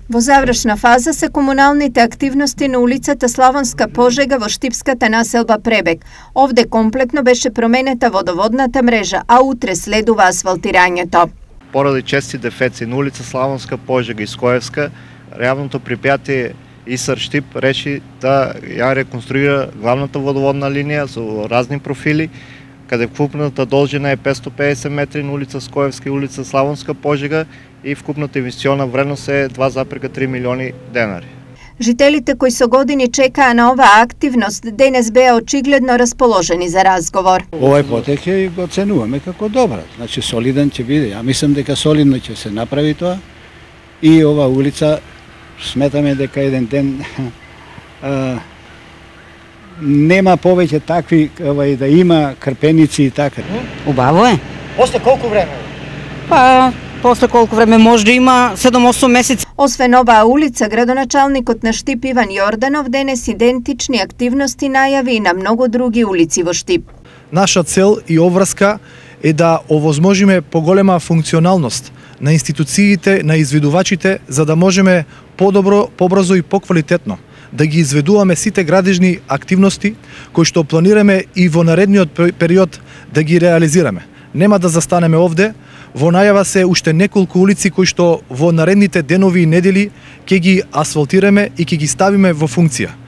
Во завршна фаза се комуналните активности на улицата Славонска Пожега во штипската населба Пребег. Овде комплетно беше променета водоводната мрежа, а утре следува асфалтирањето. Поради чести дефеци на улица Славонска Пожега и Скоевска, јавното предпријатие ИСАР Штип реши да ја реконструира главната водоводна линија со разни профили, каде вкупната должина е 550 метри на улица Скоевска и улица Славонска Пожега и вкупната инвестициона вредност е 2,3 милиони денари. Жителите кои со години чекаа на оваа активност денес беа очигледно расположени за разговор. Овој потек ќе го оценуваме како добар, значи солиден ќе биде. Ја мислам дека солидно ќе се направи тоа и ова улица сметаме дека еден ден нема повеќе такви да има крпеници и така. Убаво е. После колку време? После колку време може да има 7-8 месеци. Освен оваа улица, градоначалникот на Штип Иван Јорданов денес идентични активности најави и на многу други улици во Штип. Наша цел и обврска е да овозможиме поголема функционалност на институциите, на изведувачите, за да можеме подобро, побрзо и поквалитетно да ги изведуваме сите градежни активности кои што планираме и во наредниот период да ги реализираме. Нема да застанеме овде, во најава се уште неколку улици кои што во наредните денови и недели ќе ги асфалтираме и ќе ги ставиме во функција.